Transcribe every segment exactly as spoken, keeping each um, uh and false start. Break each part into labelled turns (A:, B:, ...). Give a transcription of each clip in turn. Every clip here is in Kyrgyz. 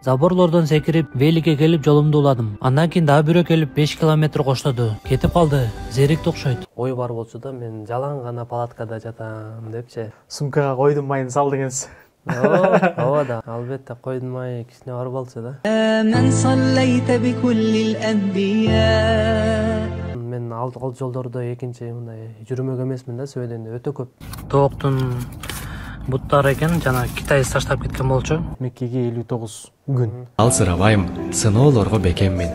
A: Заборлордон секирип, великке келип жолумду уладым. Андан кийин дагы бирөө келип беш километр коштоду. Кетип калды. Зерикти окшойт. Ой бар болчу да, мен жалаң гана палаткада жатам депчи.
B: Сумкага койдун майын салдыңыз.
A: Ооба, ооба да. Албетте койдун майы кичине бар болчу да. Мен ал жолдордо экинчи мындай жүрмөк эмесмин да, сөйдөндөй өтө көп. Тооктун буттары экен, жана Китай таштап кеткен болчу.
B: Меккеге элүү тогуз күн.
C: Алсырабайм, сыноолорго бекеммин.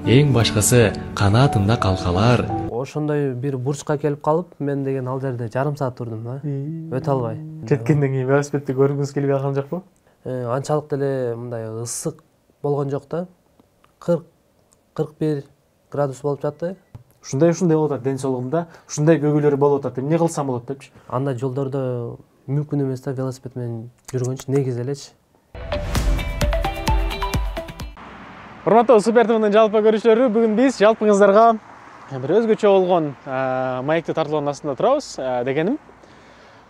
C: Эң башкысы канаатымда калкалар.
A: Ошондой бир бурчка келип калып, мен деген ал жерде жарым саат турдум да. Өтө албай.
B: Жеткенден кийин велосипедти көргүңүз келбей калган жокпу?
A: Анчалык деле мындай ысык болгон жок да. кырк кырк бир градус болуп жатты.
B: Ушундай ушундай болуп атат ден соолугумда, ушундай көгүлөр болуп атат. Эмне кылсам болот депчи.
A: Андай жолдордо мүмкүн эмес да велосипед менен жүргөнчү, негизи элечи.
B: Урматтуу Супер ТВнын жалпы көрүүчүлөрү, бүгүн биз жалпыңыздарга бир өзгөчө болгон маекти тартуулоонун астында турабыз дегеним.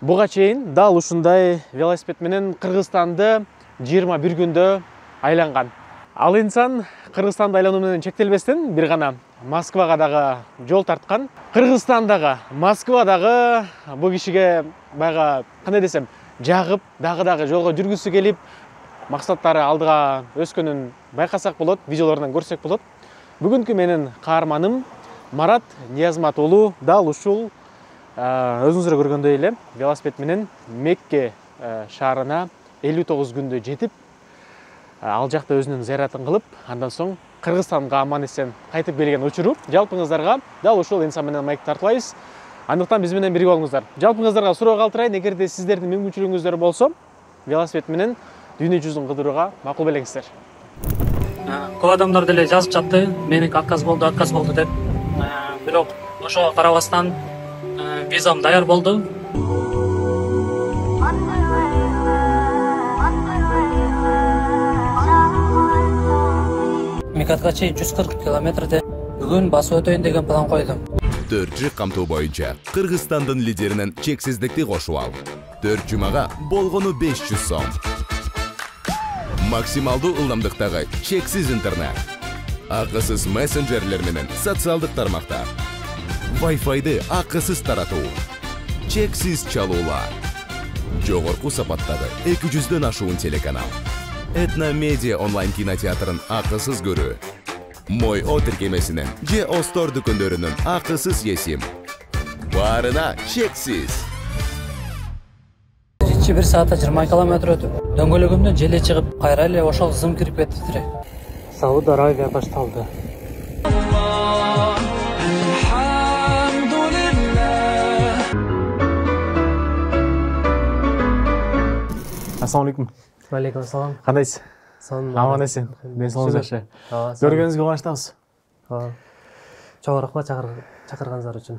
B: Буга чейин дал ушундай велосипед менен Кыргызстанды жыйырма бир күндө айланган. Ал инсан Кыргызстанды айлануу менен чектелбестен бир гана Москвага дагы жол тарткан. Кыргызстандагы, Москвадагы бул кишиге баягы кандай десем, жагып, дагы-дагы жолго жүргүсү келип, максаттары алдыга өскөнүн байкасак болот, видеолорунан көрсөк болот. Бүгүнкү менин каарманым Марат Ниязмат уулу дал ушул өзүңүздөр көргөндөй эле велосипед менен Мекке шаарына элүү тогуз күндө жетип, ал жакта өзүнүн зыяратын кылып, андан соң Кыргызстанга аман эсен кайтып келген учуру жалпыңыздарга дал ушул инсан менен маек тартуулайбыз. Андыктан биз менен бирге болуңуздар. Жалпыңыздарга суроо калтырайын, эгерде сиздердин мүмкүнчүлүгүңүздөр болсо, велосипед менен дүйнө жүзүн кыдырууга макул белеңиздер.
A: Көп адамдар деле жазып жатты, меники отказ болду, отказ болду деп. Бирок ошого карабастан визам даяр болду. Мекатка чейин жүз кырк километрде бүгүн басып өтөйүн деген план койдум.
D: төрт жыл камтуу боюнча Кыргызстандын лидеринен чексиздикти кошуп ал. төрт жумага болгону беш жүз сом. Максималдуу ылдамдыктагы чексиз интернет. Акысыз мессенджерлер менен социалдык тармактар. Wi-Fi'ды акысыз таратуу. Чексиз чалуулар. Жогорку сапаттагы эки жүздөн ашуун телеканал. Этно медиа онлайн кинотеатрын акысыз көрүү. Мой о тиркемесинен же Остор дүкөндөрүнүн акысыз есим. Баарына чексиз.
A: бир саатта жыйырма километр өтүп, дөңгөлөгүмдөн желе чыгып, кайра эле ошол зым кирип кетти тире. Сауд Арабия башталды.
B: Ассаламу алейкум.
A: Алейкум ассалам.
B: Кандайсыз? Аман эсен. Ден соолугуңуз жакшы. Көргөнүңүзгө кубанычтабыз.
A: Чоң рахмат чакырганыңыздар үчүн.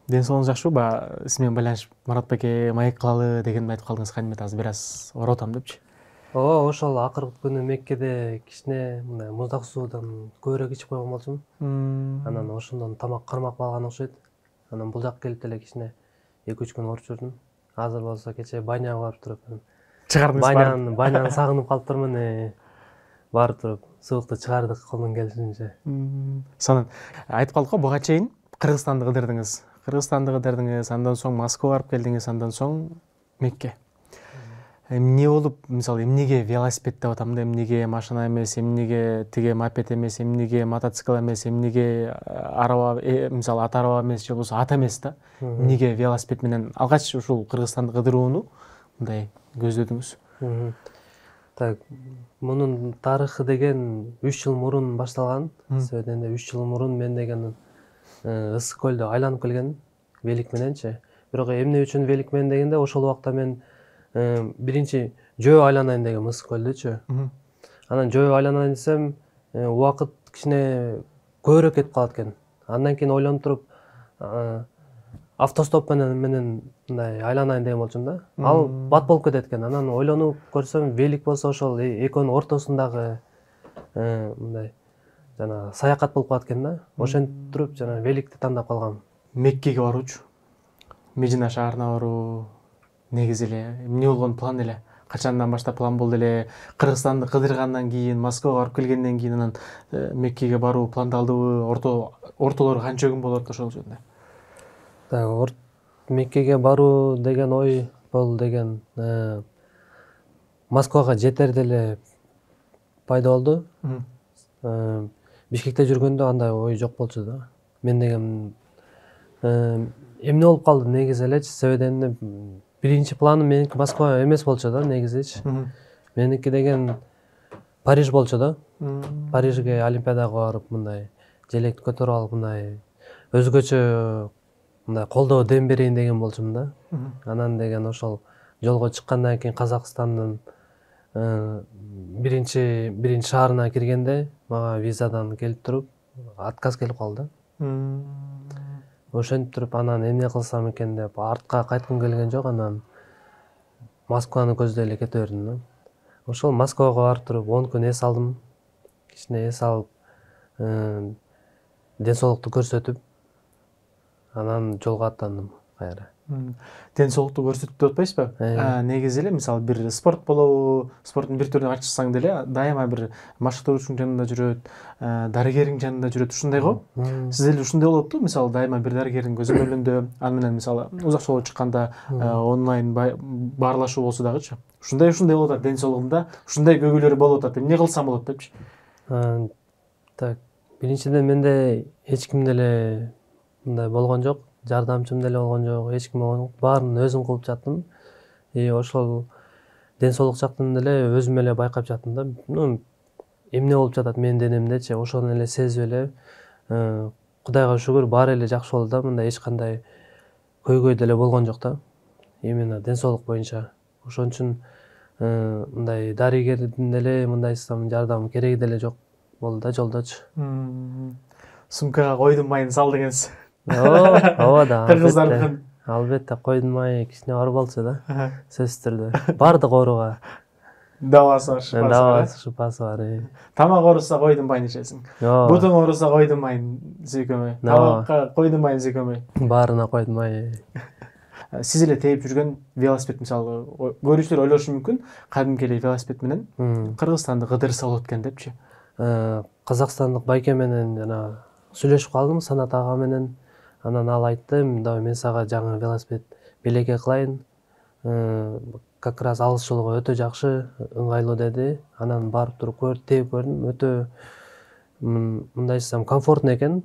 B: Ден соолугуңуз жакшыбы? Баягы сиз менен байланышып, Марат беке маек кылалы дегенди айтып калдыңыз, кайнымет азыр бир аз оротам депчи.
A: Ооба, ошол акыркы күнү Меккеде кичине мындай муздак суудан көбүрөөк ичип койгон болчумун. Анан ошондон тамак кармап калган окшойт. Анан бул жакка келип деле кичине эки үч күн ооруп жүрдүм. Азыр болсо кечээ баняга барып туруп,
B: чыгардыңыз
A: баняны, баняны сагынып калыптырмын. Барып туруп, суукту чыгардык колдон келишинче.
B: Сонун айтып калдык го, буга чейин Кыргызстанды кыдырдыңыз. Кыргызстанды кыдырдыңыз, андан соң Москвага барып келдиңиз, андан соң Мекке. Эмне болуп, мисалы, эмнеге велосипед деп атам да, эмнеге машина эмес, эмнеге тиге мопед эмес, эмнеге мотоцикл эмес, эмнеге араба, мисалы, ат араба эмес, же болбосо ат эмес да. Эмнеге велосипед менен алгач ушул Кыргызстанды кыдырууну мындай көздөдүңүз?
A: Так, мунун тарыхы деген үч жыл мурун башталган. Сөйдөндөй үч жыл мурун мен деген ысык көлдү айланып келген велик мененчи. Бирок эмне үчүн велик менен дегенде, ошол убакта мен биринчи жөө айланайын деген ысык көлдүчү. Анан жөө айланайын десем, убакыт кичине көбүрөөк кетип калат экен. Андан кийин ойлонуп туруп, автостоп менен менен мындай айланайын деген болчумун да. Ал бат болуп кетет экен. Анан ойлонуп көрсөм, велик болсо ошол экөөнүн ортосундагы мындай жана саякат болуп калат экен да. Ошентип туруп жана великти тандап калгам.
B: Меккеге баруучу, Медина шаарына баруу негизи эле эмне болгон план эле? качандан баштап план болду эле? Кыргызстанды кыдыргандан кийин, Москвага барып келгенден кийин анан Меккеге баруу пландалдыбы? Орто ортолору канча күн болот ошол жөнүндө?
A: Так, Меккеге баруу деген ой бул деген Москвага жетерде эле пайда болду. Бишкекте жүргөндө андай ой жок болчу да. Мен деген эмне болуп калды негизи элечи, себебинде биринчи планым меники Москва эмес болчу да негизичи. Меники деген Париж болчу да. Парижге Олимпиадага барып мындай желекти көтөрүп алып мындай өзгөчө мындай колдоо дем берейин деген болчумун да. Анан деген ошол жолго чыккандан кийин Казакстандын биринчи биринчи шаарына киргенде мага визадан келип туруп отказ келип калды. Ошентип туруп анан эмне кылсам экен деп артка кайткым келген жок, анан Москваны көздөй эле кете бердим да. Ошол Москвага барып туруп он күн эс алдым. Кичине эс алып, ден соолукту көрсөтүп, анан жолго аттандым кайра.
B: Ден соолукту көрсөтүп деп атпайсызбы? Негизи эле мисалы бир спорт болобу, спорттун бир түрүн ачсаң деле дайыма бир машыктыруучунун жанында жүрөт, дарыгердин жанында жүрөт, ушундай го. Сиз эле ушундай болопту, мисалы дайыма бир дарыгердин көзөмөлүндө, аны менен мисалы узак жолго чыкканда онлайн баарлашуу болсо дагычы. Ушундай ушундай болуп атат ден соолугумда, ушундай көйгөйлөр болуп атат. Эмне кылсам болот депчи?
A: Так, биринчиден менде эч ким деле мындай болгон жок. Жардамчым деле болгон жок, эч ким болгон жок. Баарын өзүм кылып жаттым. И ошол ден соолук жактан деле өзүм эле байкап жаттым да. Ну, эмне болуп жатат менин денемдечи, ошону эле сезип эле Кудайга шүгүр баары эле жакшы болду да. Мындай эч кандай көйгөй деле болгон жок да. Именно ден соолук боюнча. Ошон үчүн мындай дарыгердин деле мындайсам жардам кереги деле жок болду да жолдочу.
B: Сумкага койдун майын сал дегенсиз.
A: Ооба да.
B: Кыргыздардын
A: албетте койдун майы кичине оор болчу да. Сөзсүз түрдө. Бардык ооруга
B: дабасы бар, шыпасы бар.
A: Дабасы, шыпасы бар.
B: Тамак ооруса койдун майын ичесиң. Бутуң ооруса койдун майын зүйкөмөй. Тамакка койдун майын зүйкөмөй.
A: Баарына койдун майы.
B: Сиз эле тээп жүргөн велосипед мисалы көрүүчүлөр ойлошу мүмкүн, кадимки эле велосипед менен Кыргызстанды кыдырса болот экен депчи.
A: Казакстандык байке менен жана сүйлөшүп калдым, Санат ага менен. Анан ал айтты, мен сага жаңы велосипед белекке кылайын. Как раз алыс жолго өтө жакшы, ыңгайлуу деди. Анан барып туруп көрүп, тээп көрдүм. Өтө мындайсам комфортный экен.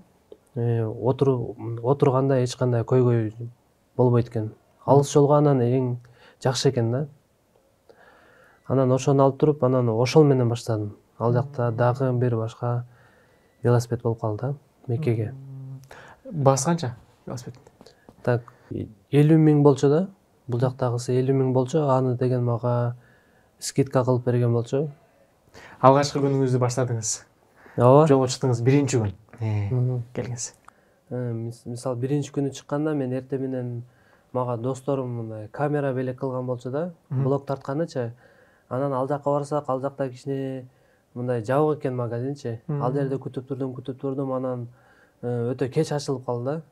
A: Отурганда эч кандай көйгөй болбойт экен. Алыс жолго анан эң жакшы экен да. Анан ошону алып туруп, анан ошол менен баштадым. Ал жакта дагы бир башка велосипед болуп калды Меккеге.
B: Баасы канча велосипед?
A: Так, элүү миң болчу да. Бул жактагысы элүү миң болчу. Аны деген мага скидка кылып берген болчу.
B: Алгачкы күнүңүздү баштадыңыз.
A: Ооба.
B: Жолго чыктыңыз биринчи күн. Келгенсиз.
A: Мисалы биринчи күнү чыкканда мен эртең менен мага досторум мындай камера белек кылган болчу да. Блог тартканычы. Анан ал жакка барсак, ал жакта кичине мындай жабык экен магазинчи. Ал жерде күтүп турдум, күтүп турдум, анан өтө кеч ачылып калды да.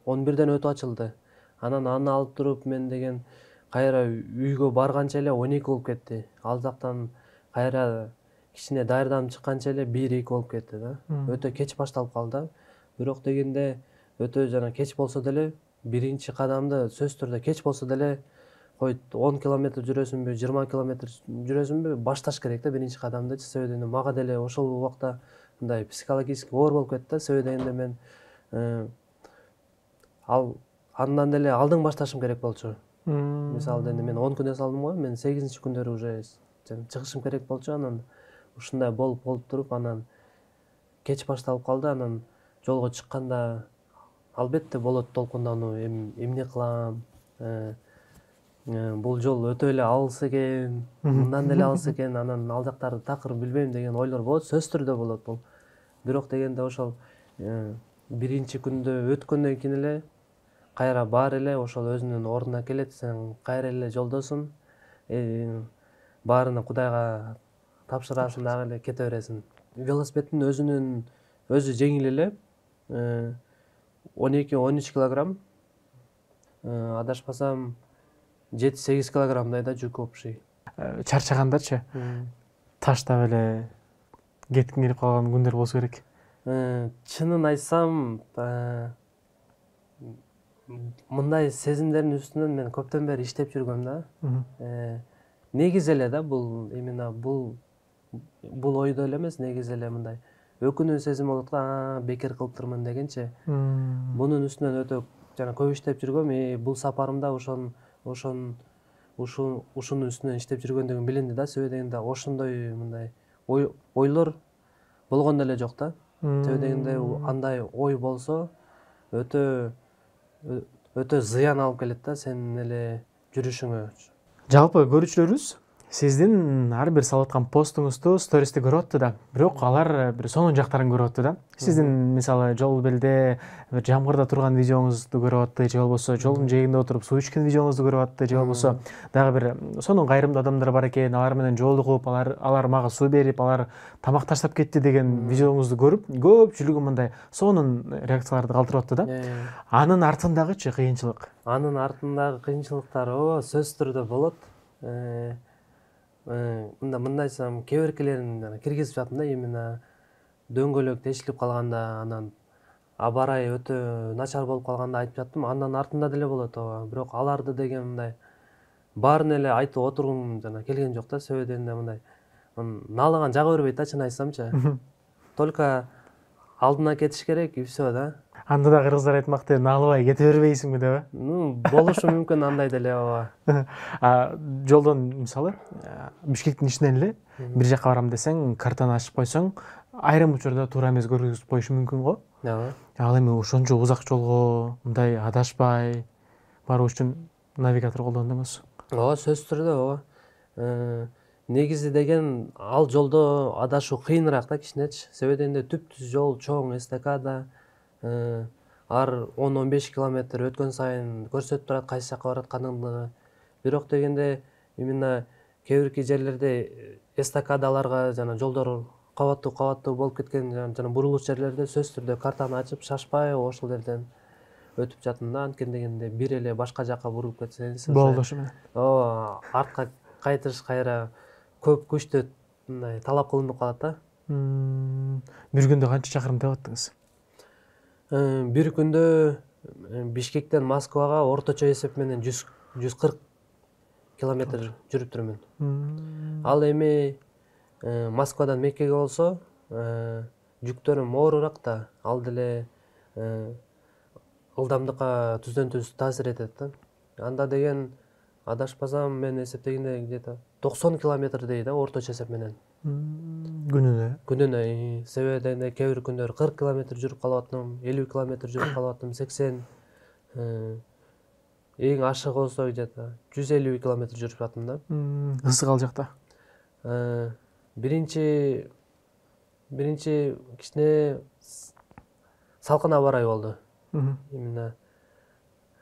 A: он бирден өтүп ачылды. Анан аны алып туруп мен деген кайра үйгө барганча эле он эки болуп кетти. Ал жактан кайра кичине даярданып чыкканча эле бир эки болуп кетти да. Өтө кеч башталып калды. Бирок дегенде өтө жана кеч болсо деле биринчи кадамды сөзсүз түрдө кеч болсо деле койт он километр жүрөсүңбү, жыйырма километр жүрөсүңбү, башташ керек да биринчи кадамдычы. Себебинде мага деле ошол убакта мындай психологически оор болуп кетти. Себебинде мен ал андан деле алдың башташым керек болчу. Мисалы эми мен он күн эс алдым го, мен сегизинчи күндөрү уже чыгышым керек болчу. Анан ушундай болуп болуп туруп анан кеч башталып калды. Анан жолго чыкканда албетте болот толкундануу, эмне кылам? Бул жол өтө эле алыс экен, мындан деле алыс экен, анан ал жактарды такыр билбейм деген ойлор болот, сөзсүз түрдө болот бул. Бирок дегенде ошол биринчи күндө өткөндөн кийин эле кайра баары эле ошол өзүнүн ордуна келет, сен кайра эле жолдосуң. Баарына Кудайга тапшырасың дагы эле кете бересиң. Велосипеддин өзүнүн өзү жеңил эле, он эки он үч килограмм, адашпасам жети сегиз килограммдай да жүк общий.
B: чарчагандачы таштап эле кеткиң келип калган күндөр болсо керек.
A: Чынын айтсам, мындай сезимдердин үстүнөн мен көптөн бери иштеп жүргөм да. Негизи эле да бул именно бул бул ойдо эле эмес, негизи эле мындай өкүнүү сезим болот го, бекер кылыптырмын дегенчи. Бунун үстүнөн өтө жана көп иштеп жүргөм. Бул сапарымда ошон ошон ушунун үстүнөн иштеп жүргөндүгүм билинди да. Себеби дегенде ошондой мындай ойлор болгон деле жок да. Себеби дегенде андай ой болсо өтө өтө зыян алып келет да сенин эле жүрүшүңө.
B: Жалпы көрүүчүлөрүбүз сиздин ар бир салып аткан постуңузду, стористи көрүп атты да, бирок алар бир сонун жактарын көрүп атты да. Сиздин мисалы жол белде бир жамгырда турган видеоңузду көрүп атты, же болбосо жолдун жээгинде отуруп суу ичкен видеоңузду көрүп атты, же болбосо дагы бир сонун кайрымдуу адамдар бар экен, алар менен жолугуп, алар алар мага суу берип, алар тамак таштап кетти деген видеоңузду көрүп, көпчүлүгү мындай сонун реакцияларды калтырып атты да. Анын артындагычы кыйынчылык?
A: Анын артындагы кыйынчылыктар ооба сөзсүз түрдө болот. Мында мындай айтсам, кээ биркилерин киргизип жаттым да, именно дөңгөлөк тешилип калганда, анан аба ырайы өтө начар болуп калганда айтып жаттым. Андан артында деле болот ооба. Бирок аларды деген мындай баарын эле айтып отургум жана келген жок да. Себеби дегенде мындай наалыган жага бербейт да, чын айтсамчы. Только алдына кетиш керек и все да.
B: Анда да кыргыздар айтмакты, наалыбай кете бербейсиңби деп э?
A: Ну, болушу мүмкүн андай деле ооба.
B: Жолдон мисалы Бишкектин ичинен эле бир жака барам десең, картаны ачып койсоң, айрым учурда туура эмес көргөзүп коюшу мүмкүн го.
A: Ооба.
B: Ал эми ошончо узак жолго мындай адашпай баруу үчүн навигатор колдондуңуз.
A: Ооба, сөзсүз түрдө ооба. Негизи деген ал жолдо адашуу кыйыныраак да кичинечи. Себеби дегенде түп-түз жол, чоң эстакада, ар он он беш километр өткөн сайын көрсөтүп турат кайсы жака баратканыңды. Бирок дегенде именно кээ бирки жерлерде эстакадаларга жана жолдор кабаттуу кабаттуу болуп кеткен жана бурулуш жерлерде сөзсүз түрдө картаны ачып шашпай ошол жерден өтүп жаттым да. Анткени дегенде бир эле башка жака бурулуп кетсеңиз
B: болду ошо менен.
A: Ооба, артка кайтыш кайра көп күчтө мындай талап кылынып калат да.
B: Бир күндө канча чакырым деп аттыңыз?
A: Бир күндө Бишкектен Москвага орточо эсеп менен жүз кырк километр жүрүп турмун. Ал эми Москвадан Меккеге болсо жүктөрүм оорураак да, ал деле ылдамдыкка түздөн түз таасир этет да. Анда деген адашпасам мен эсептегенде где-то токсон километр дейт да орточо эсеп менен.
B: Күнүнө?
A: Күнүнө. Себеби дегенде кээ бир күндөр кырк километр жүрүп калып аттым, элүү километр жүрүп калып аттым, сексен. Эң ашыгы болсо где-то жүз элүү километр жүрүп аттым да.
B: Ысык ал жакта?
A: Биринчи биринчи кичине салкын аба ырайы болду. Именно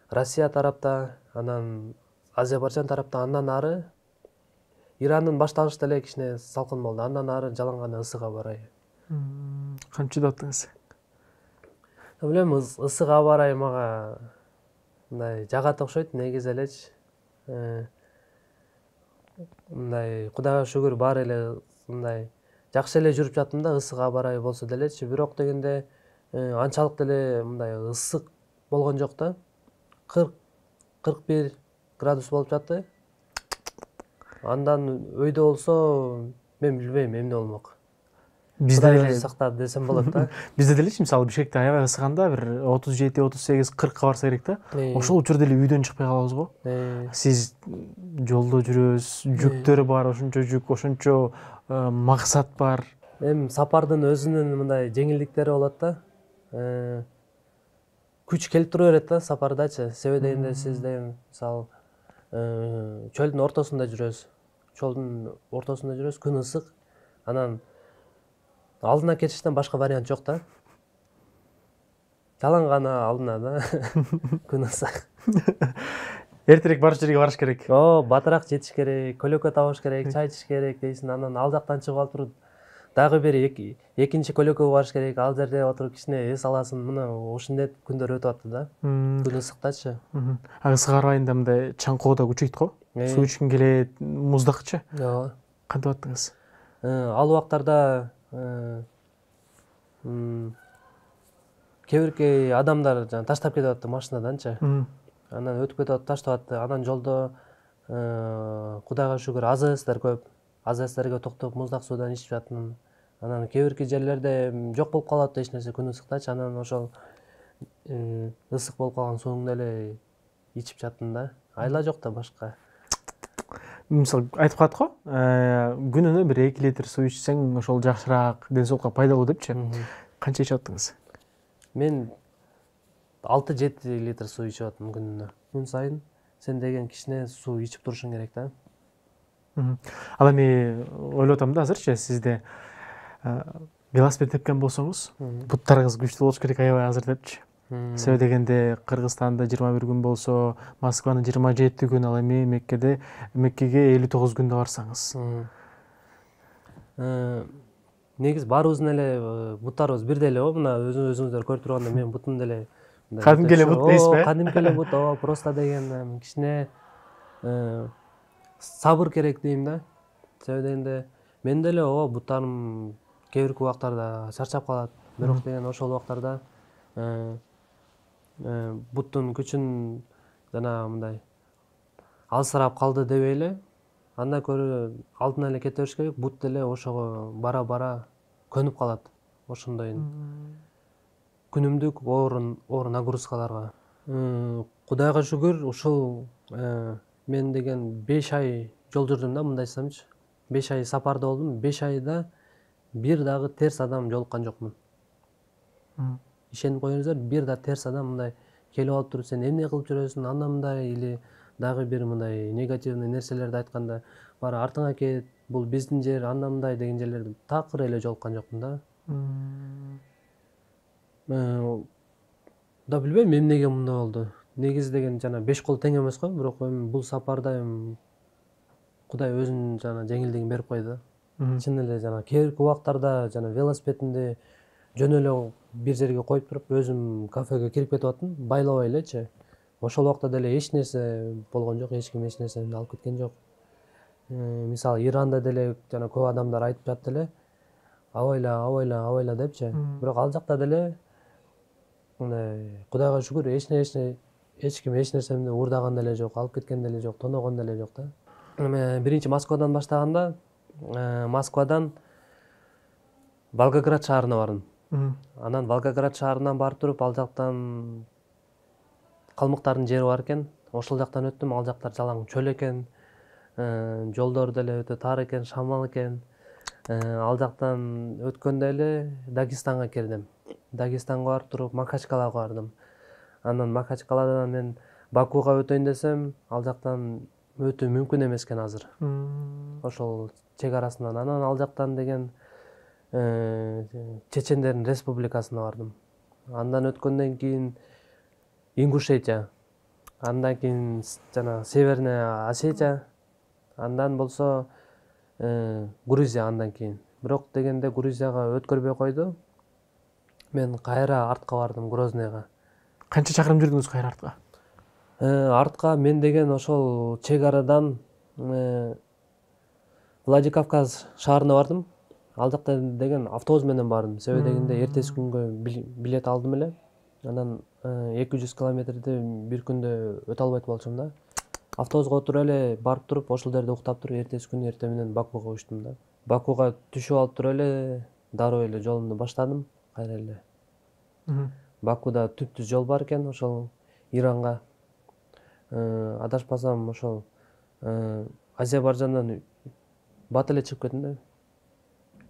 A: Россия тарапта, анан Азербайжан тарапта, андан ары Ирандын башталышта эле кичине салкын болду. Андан ары жалаң гана ысык аба ырайы.
B: Канчада аттыңыз?
A: Билем, ысык аба ырайы мага мындай жагат окшойт, негизи элечи. Мындай Кудайга шүгүр баары эле мындай жакшы эле жүрүп жаттым да, ысык аба ырайы болсо делечи. Бирок дегенде анчалык деле мындай ысык болгон жок да. кырк кырк бир градус болуп жатты. Андан өйдө болсо мен билбейм эмне болмок. Бизде эле сактады десем болот да.
B: Бизде делечи мисалы Бишкекте аябай ысыганда бир отуз жети, отуз сегиз, кыркка барса керек да. Ошол учурда эле үйдөн чыкпай калабыз го. Сиз жолдо жүрөсүз, жүктөр бар, ошончо жүк, ошончо максат бар.
A: Эми сапардын өзүнүн мындай жеңилдиктери болот да. Күч келип тура берет да сапардачы. Себеби дегенде сиз деген мисалы чөлдүн ортосунда жүрөсүз. Чөлдүн ортосунда жүрөсүз, күн ысык. Анан алдына кетиштен башка вариант жок да. Жалаң гана алдына да. Күн ысык.
B: Эртерээк барыш жерге барыш керек.
A: О, батыраак жетиш керек, көлөкө табыш керек, чай ичиш керек дейсиң. Анан ал жактан чыгып алып туруп дагы бир экинчи көлөкөгө барыш керек. Ал жерде отуруп кичине эс аласың. Мына ошондой күндөр өтүп атты да. Күн ысыктачы.
B: А ысык айында мындай чаңкоо да күчөйт го? суу ичкиң келет, муздакчы
A: ооба.
B: кантип аттыңыз?
A: Ал убактарда кээ бирки адамдар жана таштап кетип атты машинаданчы. Анан өтүп кетип атып таштап атты. Анан жолдо Кудайга шүгүр АЗСтер көп. АЗСтерге токтоп муздак суудан ичип жаттым. Анан кээ бирки жерлерде жок болуп калат эч нерсе күн ысыктачы. Анан ошол ысык болуп калган сууңду эле ичип жаттым да. Айла жок да башка.
B: Мисалы айтып калат го, күнүнө бир эки литр суу ичсең ошол жакшыраак, ден соолукка пайдалуу депчи. Канча ичип аттыңыз?
A: Мен алты жети литр суу ичип аттым күнүнө. Күн сайын сен деген кичине суу ичип турушуң керек да.
B: Ал эми ойлоп атам да азырчы, сизде велосипед тепкен болсоңуз, буттарыңыз күчтүү болуш керек аябай азыр депчи. Себеби дегенде Кыргызстанда жыйырма бир күн болсо, Москванын жыйырма жети күн, ал эми Меккеде Меккеге элүү тогуз күндө барсаңыз.
A: Негизи баарыбыздын эле буттарыбыз бирдей эле го. Мына өзүңүздөр көрүп тургандай мен бутум деле
B: кадимки эле бут дейсизби?
A: Кадимки эле бут, ооба, просто деген кичине сабыр керек дейм да. Себеби дегенде мен деле ооба буттарым кээ бирки убактарда чарчап калат. Бирок деген ошол убактарда буттун күчүн жана мындай алсырап калды дебейли, андан көрө алдына эле кете бериш керек. Бут деле ошого бара бара көнүп калат. Ошондой күнүмдүк оор оор нагрузкаларга. Кудайга шүгүр, ушул мен деген беш ай жол жүрдүм да, мындай десемчи. беш ай сапарда болдум. беш айда бир дагы терс адам жолуккан жокмун. Ишенип коюңуздар, бир да терс адам мындай келип алып туруп сен эмне кылып жүрөсүң, анда мындай или дагы бир мындай негативный нерселерди айтканда, бара артыңа кет, бул биздин жер, анда мындай деген жерлерде такыр эле жолуккан жокмун да. Да билбейм эмнеге мындай болду. Негизи деген жана беш кол тең эмес го, бирок эми бул сапарда эми Кудай өзүнүн жана жеңилдигин берип койду. Чын эле жана кээ бирки убактарда жана велосипедимди жөн эле бир жерге коюп туруп, өзүм кафеге кирип кетип аттым, байлабай элечи. Ошол убакта деле эч нерсе болгон жок, эч ким эч нерсени алып кеткен жок. Мисалы Иранда деле жана көп адамдар айтып жатты эле, абайла, абайла, абайла депчи. Бирок ал жакта деле мындай Кудайга шүгүр эч нерсе эч ким эч нерсемди уурдаган деле жок, алып кеткен деле жок, тоногон деле жок да. Биринчи Москвадан баштаганда, Москвадан Волгоград шаарына бардым. Анан Волгоград шаарынан барып туруп, ал жактан калмыктардын жери бар экен. Ошол жактан өттүм. Ал жактар жалаң чөл экен. Жолдор деле өтө тар экен, шамал экен. Ал жактан өткөндө эле Дагестанга кирдим. Дагестанга барып туруп Макачкалага бардым. Анан Макачкаладан мен Бакуга өтөйүн десем, ал жактан өтүү мүмкүн эмес экен азыр. Ошол чек арасынан. Анан ал жактан деген Чечендердин республикасына бардым. Андан өткөндөн кийин Ингушетия, андан кийин жана Северная Осетия, андан болсо Грузия андан кийин. Бирок дегенде Грузияга өткөрбөй койду. Мен кайра артка бардым, Грознойго.
B: Канча чакырым жүрдүңүз кайра артка?
A: Артка мен деген ошол чек арадан Владикавказ шаарына бардым. Ал жакта деген автобус менен бардым. Себеби дегенде эртеси күнгө билет алдым эле. Анан эки жүз километрди бир күндө өтө албайт болчумун да. Автобуска отуруп эле барып туруп, ошол жерде уктап туруп, эртеси күнү эртең менен Бакуга учтум да. Бакуга түшүп алып туруп эле дароо эле жолумду баштадым кайра эле. Бакуда түп-түз жол бар экен, ошол Иранга. Адашпасам ошол Азербайжандан бат эле чыгып кеттим да.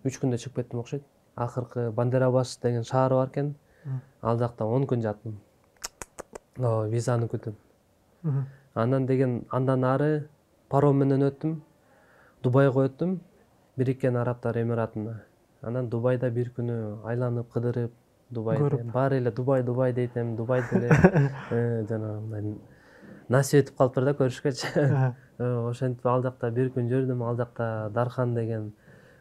A: үч күндө чыгып кеттим окшойт. Акыркы Бандерабаш деген шаар бар экен. Ал жакта он күн жаттым. О, визаны күтүп. Андан деген андан ары паром менен өттүм. Дубайга өттүм. Бириккен Арабтар Эмиратына. Анан Дубайда бир күнү айланып, кыдырып, Дубайды баары эле Дубай, Дубай дейтем, Дубайды эле жана мындай насип этип калыптыр да көрүшкөчү. Ошентип ал жакта бир күн жүрдүм. Ал жакта Дархан деген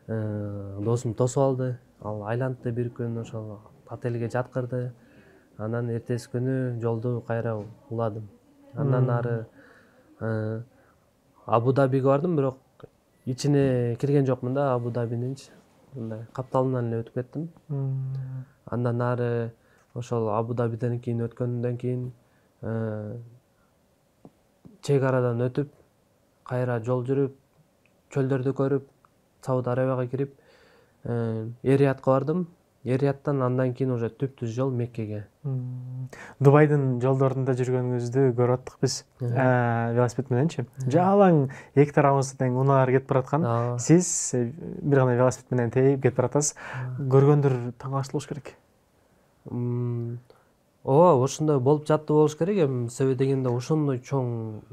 A: досум тосуп алды. Ал айлантты бир күн, ошол отелге жаткырды. Анан эртеси күнү жолду кайра уладым. Андан ары Абу Дабиге бардым, бирок ичине кирген жокмун да Абу Дабининчи. Мындай капталынан эле өтүп кеттим. Андан нары ошол Абу Дабиден кийин өткөндөн кийин чек арадан өтүп, кайра жол жүрүп, чөлдөрдү көрүп, Сауд Арабияга кирип, Эриятка бардым. Эрияттан андан кийин уже түптүз жол Меккеге.
B: Дубайдын жолдорунда жүргөнүңүздү көрүп аттык биз велосипед мененчи. Жалаң эки тарабыңызда тең унаалар кетип бараткан. Сиз бир гана велосипед менен тээп кетип баратасыз. Көргөндөр таң калыштуу болуш керек.
A: Ооба, ошондой болуп жатты болуш керек. Эми себеби дегенде ошондой чоң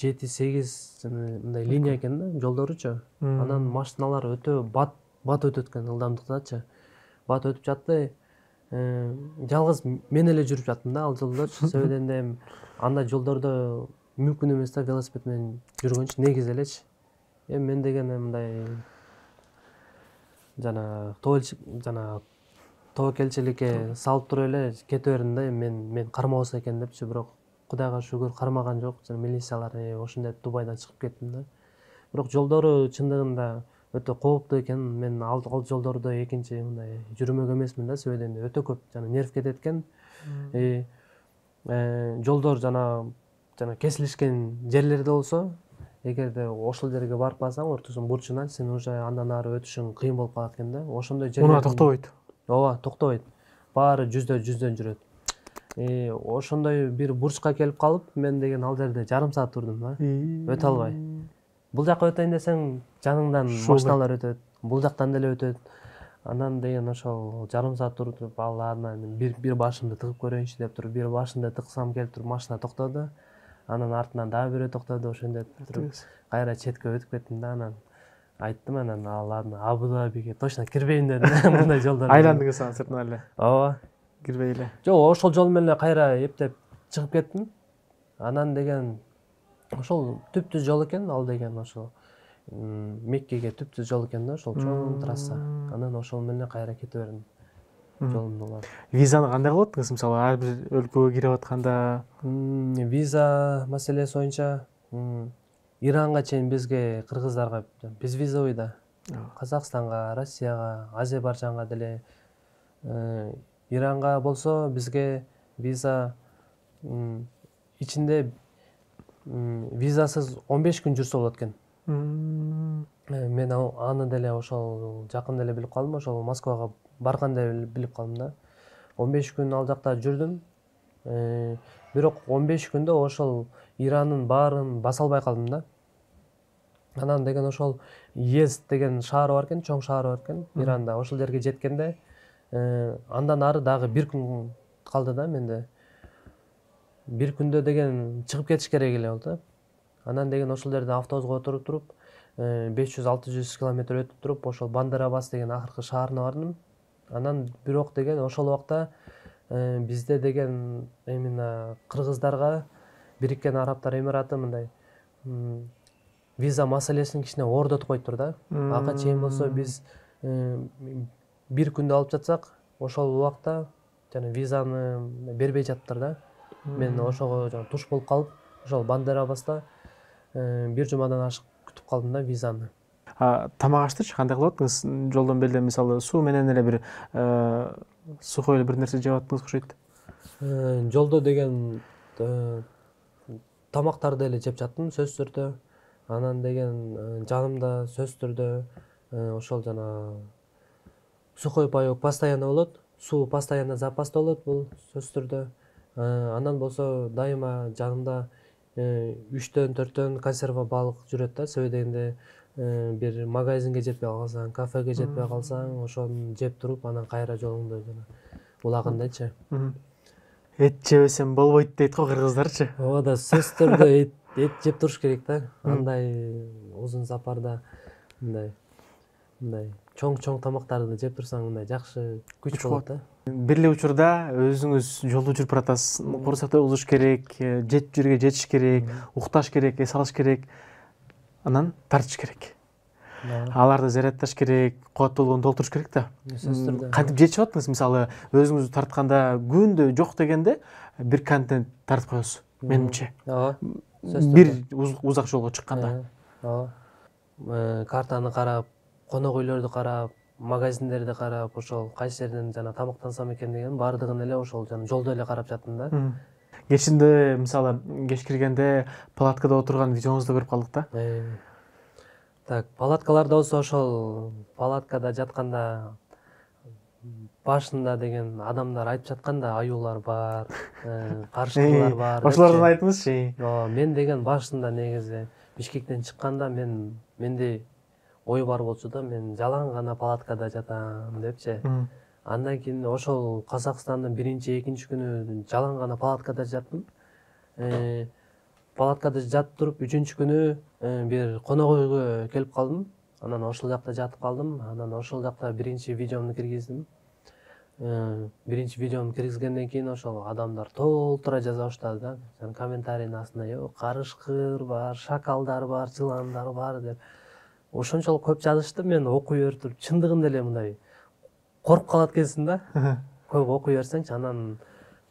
A: жети сегиз мындай линия экен да жолдоручу. Анан машиналар өтө бат бат өтөт экен ылдамдыктачы. Бат өтүп жатты. Жалгыз мен эле жүрүп жаттым да ал жолдор. Себеби дегенде андай жолдордо мүмкүн эмес да велосипед менен жүргөнчү негизи элечи. Эми мен деген мындай жана жана тобокелчиликке салып туруп эле кете бердим да, мен мен кармабаса экен депчи, бирок Кудайга шүгүр кармаган жок. Жана милициялар ошондой Дубайдан чыгып кеттим да. Бирок жолдору чындыгында өтө кооптуу экен. Мен ал жолдордо экинчи мындай жүрмөк эмесмин да, себеби дегенде өтө көп жана нерв кетет экен. Жолдор жана жана кесилишкен жерлерде болсо, эгерде ошол жерге барып калсаң, ортосун бурчунан сен уже андан ары өтүшүң кыйын болуп калат экен да. Ошондой жерлер.
B: Унаа токтобойт.
A: Ооба, токтобойт. Баары жүздөн жүздөн жүрөт. Ошондой бир бурчка келип калып, мен деген ал жерде жарым саат турдум да. Өтө албай. Бул жака өтөйүн десең, жаныңдан машиналар өтөт, бул жактан деле өтөт. Анан деген ошол жарым саат туруп, ал анан бир бир башымды тыгып көрөйүнчү деп туруп, бир башымды тыксам келип туруп машина токтоду. Анан артынан дагы бирөө токтоду, ошондой туруп кайра четке өтүп кеттим да. Анан айттым, анан ал Абу Дабиге точно кирбейм дедим. Мындай жолдор.
B: Айландыңыз анан сыртынан эле.
A: Ооба.
B: Кирбей эле.
A: Жок, ошол жол менен эле кайра эптеп чыгып кеттим. Анан деген ошол түптүз жол экен, ал деген ошол Меккеге түптүз жол экен да, ошол чоң трасса. Анан ошол менен кайра кете бердим. Жолумду улап.
B: Визаны кандай кылып аттыңыз? Мисалы, ар бир өлкөгө кирип атканда
A: виза маселеси боюнча Иранга чейин бизге кыргыздарга биз визовый да. Казакстанга, Россияга, Азербайджанга деле. Иранга болсо бизге виза ичинде визасыз он беш күн жүрсө болот экен. Мен аны деле ошол жакында эле билип калдым, ошол Москвага барганда эле билип калдым да. он беш күн ал жакта жүрдүм. Бирок он беш күндө ошол Иранын баарын баса албай калдым да. Анан деген ошол Ез деген шаар бар экен, чоң шаар бар экен Иранда. Ошол жерге жеткенде андан ары дагы бир күн калды да менде. Бир күндө деген чыгып кетиш керек эле болду да. Анан деген ошол жерде автобуска отуруп туруп, беш жүз алты жүз километр өтүп туруп, ошол Бандер Аббас деген акыркы шаарына бардым. Анан бирок деген ошол убакта бизде деген именно кыргыздарга Бириккен Арабтар Эмираты мындай виза маселесин кичине ордотуп коюптур да. Ага чейин болсо биз бир күндө алып жатсак, ошол убакта жана визаны бербей жатыптыр да. Мен ошого жана туш болуп калып, ошол Бандер Аббаста бир жумадан ашык күтүп калдым да визаны.
B: Тамак аштычы кандай кылып аттыңыз? Жолдон белде мисалы суу менен эле бир сухой эле бир нерсе жеп аттыңыз окшойт.
A: Жолдо деген тамактарды эле жеп жаттым сөзсүз түрдө. Анан деген жанымда сөзсүз түрдө ошол жана сухой паёк постоянно болот, суу постоянно запаста болот, бул сөзсүз түрдө. Анан болсо дайыма жанымда үчтөн төрттөн консерва балык жүрөт да, себеби дегенде бир магазинге жетпей калсаң, кафеге жетпей калсаң, ошону жеп туруп, анан кайра жолуңду жана улагандайчы.
B: Эт жебесем болбойт дейт го кыргыздарчы.
A: Ооба да, сөзсүз түрдө эт жеп туруш керек да. Андай узун сапарда мындай мындай чоң-чоң тамактарды жеп турсаң, мындай жакшы күч болот да.
B: Бир эле учурда өзүңүз жолдо жүрүп баратасыз. Курсакта угуш керек, жет жерге жетиш керек, укташ керек, эс алыш керек. Анан тартыш керек. Аларды зарядташ керек, кубат болгондо толтуруш керек да. Кантип жетишип аттыңыз? Мисалы, өзүңүздү тартканда күндө жок дегенде бир контент тартып коесуз, менимче. бир узак жолго чыкканда.
A: Ооба. Картаны карап, конок үйлөрдү карап, магазиндерди карап, ошол кайсы жерден жана тамактансам экен деген баардыгын эле ошол жана жолдо эле карап жаттым да.
B: Кечинде мисалы кеч киргенде палаткада отурган видеоңузду көрүп калдык да.
A: Так, палаткаларда болсо ошол палаткада жатканда башында деген адамдар айтып жатканда аюулар бар, карышкырлар бар.
B: Ошолордон айтыңызчы.
A: Ооба, мен деген башында негизи Бишкектен чыкканда мен менде ой бар болчу да, мен жалаң гана палаткада жатам депчи. Андан кийин ошол Казакстандын биринчи, экинчи күнү жалаң гана палаткада жаттым. Палаткада жатып туруп, үчүнчү күнү бир конок үйгө келип калдым. Анан ошол жакта жатып калдым. Анан ошол жакта биринчи видеомду киргиздим. Биринчи видеомду киргизгенден кийин ошол адамдар толтура жаза баштады да. Жана комментарийдин астына "Жок, карышкыр бар, шакалдар бар, жыландар бар" деп. Ошончолук көп жазышты, мен окуй берип туруп, чындыгында эле мындай коруп калат экенсиң да. Көп окуй берсеңчи, анан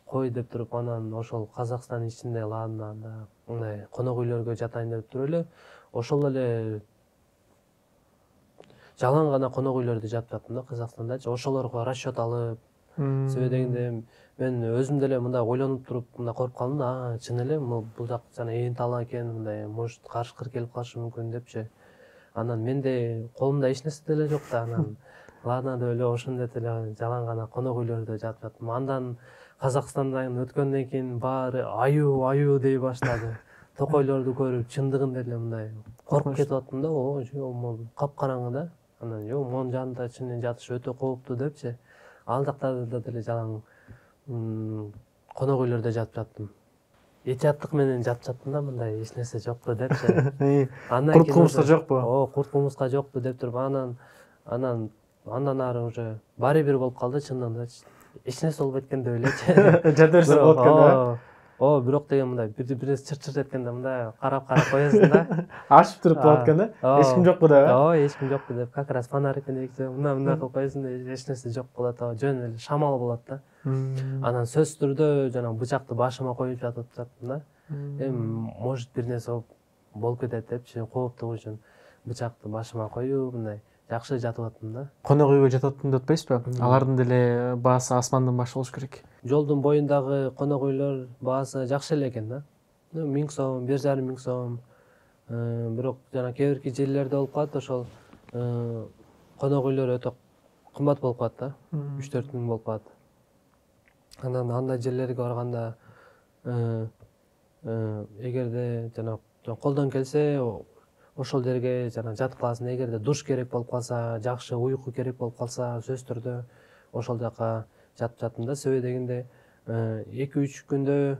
A: кой деп туруп, анан ошол Казакстандын ичинде ладно, анда мындай конок үйлөргө жатайын деп туруп эле ошол эле жалаң гана конок үйлөрдө жатып жаттым да Казакстандачы. Ошолорго расчет алып, себеби дегенде мен өзүм деле мындай ойлонуп туруп, мындай коруп калдым да, чын эле бул жак жана ээн тала экен, мындай может карышкыр келип калышы мүмкүн депчи. Анан менде колумда эч нерсе деле жок да, анан ладно деп эле ошондой эле жалаң гана конок үйлөрдө жатып жаттым. Андан Казакстандан өткөндөн кийин баары аю аю дей баштады. Токойлорду көрүп чындыгында эле мындай коруп кетип аттым да. О, могу капкараңгы да. Анан жок, монун жанында чынын жатыш өтө кооптуу депчи. Ал жакта деле жалаң конок үйлөрдө жатып жаттым. Этияттык менен жатып жаттым да, мындай эч нерсе жокпу депчи.
B: Курт кумурска жокпу?
A: О, курт кумурска жокпу деп туруп, анан анан андан ары уже баары бир болуп калды чындыгында. Эч нерсе болбойт экен деп элечи.
B: Жата берсе болот экен да.
A: О, бирок деген мындай бир-бирин чыр-чыр эткенде мындай карап-карап коесуң да.
B: Ашып туруп болот экен да. Эч ким жокпу деп.
A: Ооба, эч ким жокпу деп, как раз фонарь экен деп, мындай-мындай кылып коесуң да, эч нерсе жок болот, жөн эле шамал болот да. Анан сөзсүз түрдө жана бычакты башыма коюп жатып жаттым да. Эми может бир нерсе болуп кетет депчи, кооптугу үчүн бычакты башыма коюп, мындай жакшы жатып аттым да.
B: Конок үйгө жатып аттым деп атпайсызбы? Алардын деле баасы асмандан баш болуш керек.
A: Жолдун боюндагы конок үйлөр баасы жакшы эле экен да. миң сом, бир жарым миң сом. Бирок жана кээ бирки жерлерде болуп калат, ошол конок үйлөр өтө кымбат болуп калат да. үч төрт миң болуп калат. Анан андай жерлерге барганда эгерде жана колдон келсе ошол жерге жана жатып каласың. Эгерде душ керек болуп калса, жакшы уйку керек болуп калса, сөзсүз түрдө ошол жака жатып жаттым да. Себеби дегенде эки үч күндө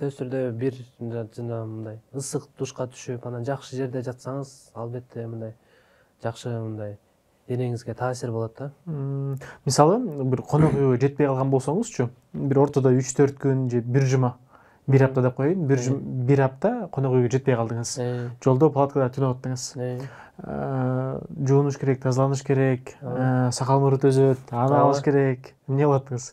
A: сөзсүз түрдө бир жана мындай ысык душка түшүп, анан жакшы жерде жатсаңыз, албетте мындай жакшы мындай денеңизге таасир болот да.
B: Мисалы, бир конок үйгө жетпей калган болсоңузчу, бир ортодо үч төрт күн же бир жума, бир апта деп коеюн, бир бир апта конок үйгө жетпей калдыңыз. Жолдо палаткада түнөп аттыңыз. Жуунуш керек, тазаланыш керек, сакал мурут өзөт, аны алыш керек. Эмне кылаттыңыз?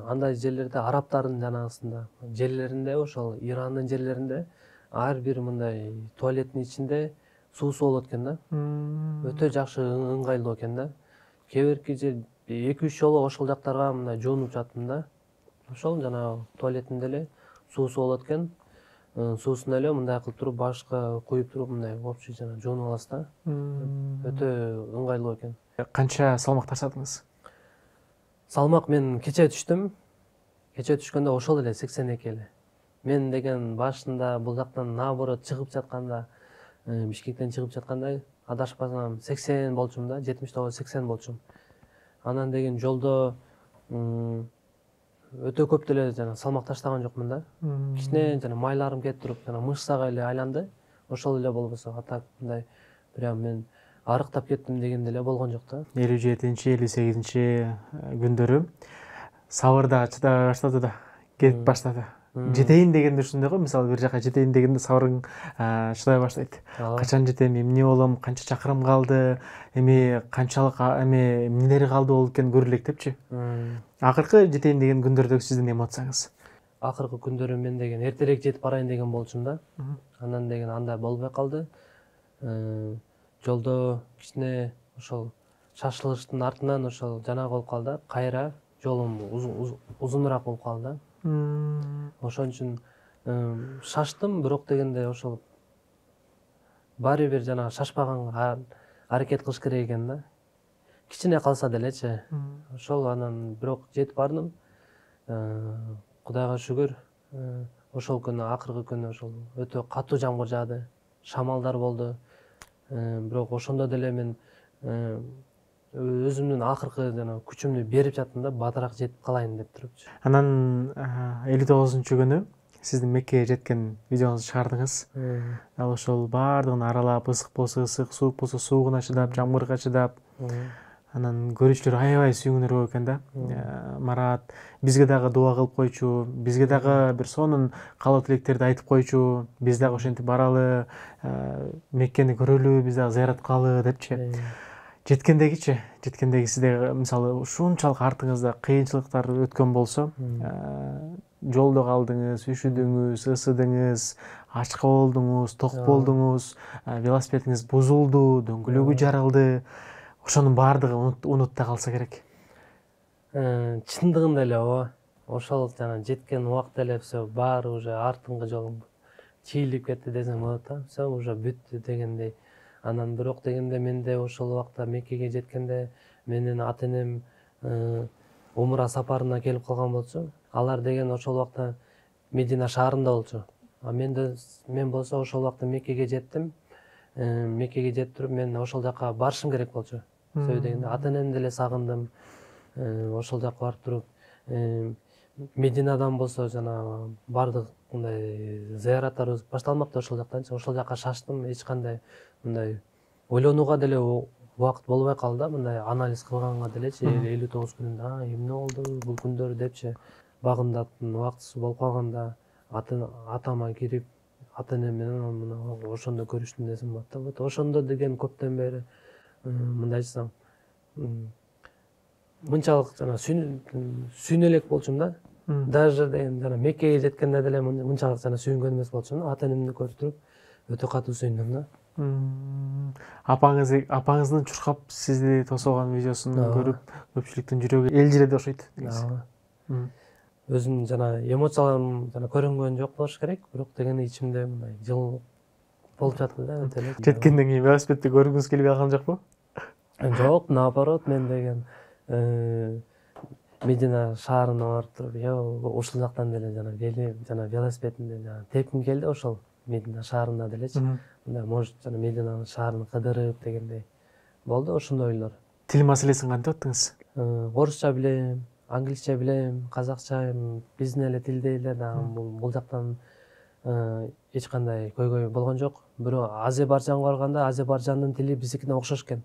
A: Андай жерлерде, арабтардын жанагысында, жерлеринде, ошол Ирандын жерлеринде ар бир мындай туалеттин ичинде суусу болот экен да. Өтө жакшы ыңгайлуу экен да. Кээ бирки жер эки үч жолу ошол жактарга мындай жуунуп жаттым да. Ошол жана туалетинде эле суусу болот экен. Суусун эле мындай кылып туруп башка куюп туруп мындай общий жана жуунуп аласыз да. Өтө ыңгайлуу экен.
B: Канча салмак тартадыңыз?
A: Салмак мен кече түштүм. Кече түшкөндө ошол эле сексен эки эле. Мен деген башында бул жактан наоборот чыгып жатканда, Бишкектен чыгып жатканда адашпасам сексен болчумун да, жетимиш тогуз сексен болчум. Анан деген жолдо өтө көп деле жана салмак таштаган жокмун да. Кичине жана майларым кетип туруп, жана мышцага эле айланды. Ошол эле болбосо, атак мындай прям мен арыктап кеттим деген деле болгон жок да.
B: элүү жетинчи, элүү сегизинчи күндөрү сабыр да чыдабай баштады да, кетип баштады. Жетейин дегенде ушундай го, мисалы бир жака жетейин дегенде сабырың чыдай баштайт. Качан жетем, эмне болом, канча чакырым калды, эми канчалык эми эмнелери калды болуп экен көрүлөк депчи. Акыркы жетейин деген күндөрдөгү сиздин эмоцияңыз?
A: акыркы күндөрү мен деген эртерээк жетип барайын деген болчумун да. Анан деген андай болбой калды. Жолдо кичине ошол шашылыштын артынан ошол жанагы болуп калды да, кайра жолум узунураак болуп калды да. Ошон үчүн шаштым, бирок дегенде ошол баары бир жанагы шашпаганга аракет кылыш керек экен да. Кичине калса делечи. Ошол анан бирок жетип бардым. Кудайга шүгүр. Ошол күнү акыркы күнү ошол өтө катуу жамгыр жаады, шамалдар болду. Бирок ошондо деле мен өзүмдүн акыркы жана күчүмдү берип жаттым да, баатыраак жетип калайын деп турупчу.
B: Анан элүү тогузунчу күнү сиздин Меккеге жеткен видеоңузду чыгардыңыз. Ал ошол баардыгын аралап, ысык болсо ысык, суук болсо суугуна чыдап, жамгырга чыдап, анан көрүүчүлөр аябай сүйүнгөндөр болуп экен да. Марат бизге дагы дуа кылып койчу, бизге дагы бир сонун каалоо тилектерди айтып койчу, биз дагы ошентип баралы, Меккени көрөлү, биз дагы зыярат кылалы депчи. Жеткендегичи, жеткендеги сизде мисалы ушунчалык артыңызда кыйынчылыктар өткөн болсо, жолдо калдыңыз, үшүдүңүз, ысыдыңыз, ачка болдуңуз, ток болдуңуз, велосипедиңиз бузулду, дөңгөлөгү жарылды. Ошонун баардыгы унутта калса керек.
A: Чындыгында эле ооба. Ошол жана жеткен убакта эле все баары уже артыңкы жолуң чийилип кетти десем болот да. Все уже бүттү дегендей. Анан бирок дегенде менде ошол убакта Меккеге жеткенде менин ата-энем умра сапарына келип калган болчу. Алар деген ошол убакта Медина шаарында болчу. А менде мен болсо ошол убакта Меккеге жеттим. Меккеге жетип туруп мен ошол жака барышым керек болчу. Себеби дегенде ата-энемди деле сагындым. Ошол жака барып туруп Мединадан болсо жана бардык мындай зыяраттарыбыз башталмапты ошол жактанчы. Ошол жака шаштым, эч кандай мындай ойлонууга деле убакыт болбой калды да, мындай анализ кылганга делечи. элүү тогуз күнүндө эмне болду бул күндөр депчи. Багымдаттын убактысы болуп калганда атама кирип ата-энем менен ошондо көрүштүм десем болот да. Вот ошондо деген көптөн бери мындай айтсам мынчалык жана сүйүнө элек болчумун да. Даже деген жана Меккеге жеткенде деле мынчалык жана сүйүнгөн эмес болчумун. Ата-энемди көрүп туруп өтө катуу сүйүндүм да.
B: Апаңыз апаңыздын чуркап сизди тосогон видеосун көрүп көпчүлүктүн жүрөгү элжиреди окшойт.
A: Өзүм жана эмоцияларым жана көрүнгөн жок болуш керек, бирок дегенде ичимде мындай жыл болуп жатты да өтө эле.
B: Жеткенден кийин велосипедди көргүңүз келбей калган жокпу?
A: Жок, наоборот, мен деген Медина шаарына барып туруп, yo ушул жактан деле жана вели жана велосипедимди жана тепким келди ошол Медина шаарында делечи. Мындай может жана Мединанын шаарын кыдырып дегендей болду ошондой ойлор.
B: Тил маселесин кантип аттыңыз?
A: Орусча билем, англисче билем, казакча, биздин эле тилдей эле дагы бул жактан эч кандай көйгөй болгон жок. Бирок Азербайджанга барганда Азербайджандын тили биздикине окшош экен.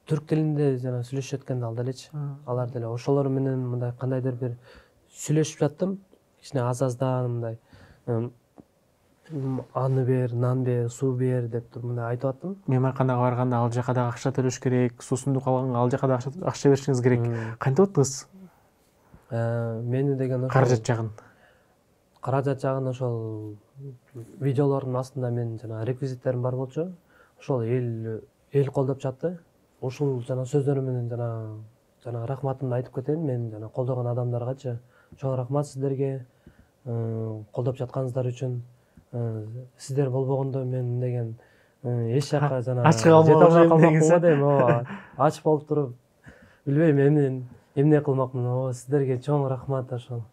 A: Түрк тилинде жана сүйлөшүп экен ал делечи. Алар деле ошолор менен мындай кандайдыр бир сүйлөшүп жаттым. Кичине аз-аздан мындай аны бер, нан бер, суу бер деп туруп мындай айтып аттым.
B: Мейманканага барганда ал жака дагы акча төлөш керек, суусундук алганга ал жака дагы акча беришиңиз керек. Кантип аттыңыз?
A: Мени деген ошол
B: каражат жагын.
A: Каражат жагын ошол видеолордун астында мен жана реквизиттерим бар болчу. Ошол эл эл колдоп жатты. Ушул жана сөздөрүм менен жана жана рахматымды айтып кетейин мен жана колдогон адамдаргачы. Чоң рахмат сиздерге колдоп жатканыңыздар үчүн. Сиздер болбогондо мен деген эч жака жана
B: ачык калмакмын
A: дейм. Ооба, ач болуп туруп билбейм эмне эмне кылмакмын. Ооба, сиздерге чоң рахмат ошол.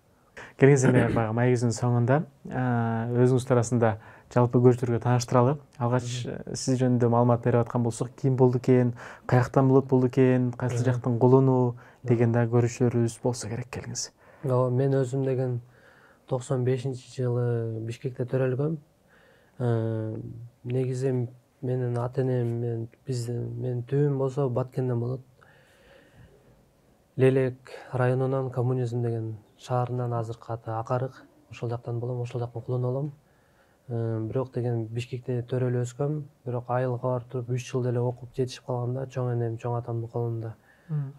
B: Келиңиз эми баягы маегибиздин соңунда өзүңүз туурасында жалпы көрүүчүлөргө тааныштыралы. Алгач сиз жөнүндө маалымат берип аткан болсок, ким болду экен, каяктан болот болду экен, кайсы жактын кулуну деген да көрүүчүлөрүбүз болсо керек. Келиңиз.
A: Ооба, мен өзүм деген токсон бешинчи жылы Бишкекте төрөлгөм. Негизи менин ата-энем мен биздин менин түбүм болсо Баткенден болот. Лелек районунан Коммунизм деген шаарынан азыркы аты Акарык. Ошол жактан болом, ошол жактын кулуну болом. Бирок деген Бишкекте төрөлүп өскөм. Бирок айылга барып туруп үч жыл деле окуп жетишип калганда чоң энем, чоң атамдын колунда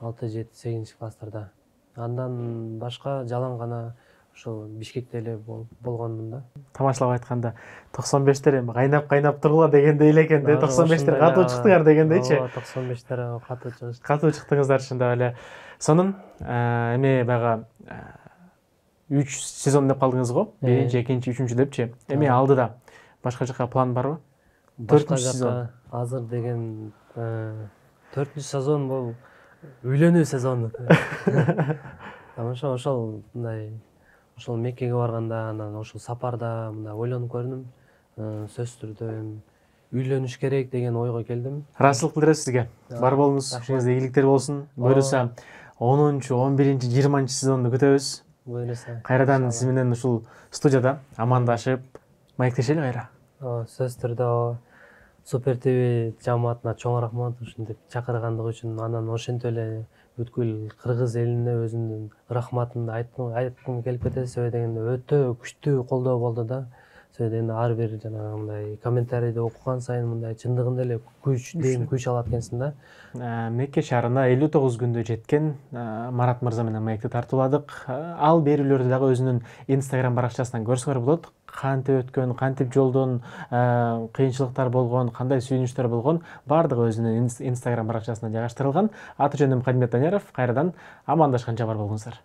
A: алты жети сегизинчи класстарда Андан башка жалаң гана ошол Бишкекте эле болгонмун да.
B: Тамашалап айтканда токсон бештер эми кайнап кайнап тургула дегендей эле экен да. токсон бештер катуу чыктыңар дегендейчи.
A: Ооба, токсон бештер катуу чыгышты.
B: Катуу чыктыңыздар чындап эле. Сонун эми баягы үч сезон деп калдыңыз го. Биринчи, экинчи, үчүнчү депчи. Эми алдыда башка жака план барбы? төртүнчү сезон.
A: Азыр деген төртүнчү сезон бул үйлөнүү сезону. Тамаша ошол мындай ошол Меккеге барганда, анан ошол сапарда мындай ойлонуп көрдүм. Сөзсүз түрдө үйлөнүш керек деген ойго келдим.
B: Ыраазычылык билдиребиз сизге. Бар болуңуз, ишиңизде ийгиликтер болсун. Буюрса онунчу, он биринчи, жыйырманчы сезонду күтөбүз.
A: Буюрса.
B: Кайрадан сиз менен ушул студияда амандашып, маектешели кайра.
A: Ооба, сөзсүз түрдө Супер ТВ жамаатына чоң рахмат ушинтип чакыргандыгы үчүн. Анан ошентип эле бүткүл кыргыз элине өзүмдүн рахматымды айткым келип кетет. Себеби дегенде өтө күчтүү колдоо болду да. Себеби дегенде ар бир жанагындай комментарийди окуган сайын мындай чындыгында эле күч, дейм күч алат экенсиң да.
B: Мекке шаарына элүү тогуз күндө жеткен Марат мырза менен маекти тартууладык. Ал берүүлөрдү дагы өзүнүн Instagram баракчасынан көрсөңөр болот. Кантип өткөн, кантип жолдон кыйынчылыктар болгон, кандай сүйүнүчтөр болгон, баардыгы өзүнүн Instagram баракчасына жайгаштырылган. Аты жөнүм Кадимбек Даняров. Кайрадан амандашканча бар болуңуздар.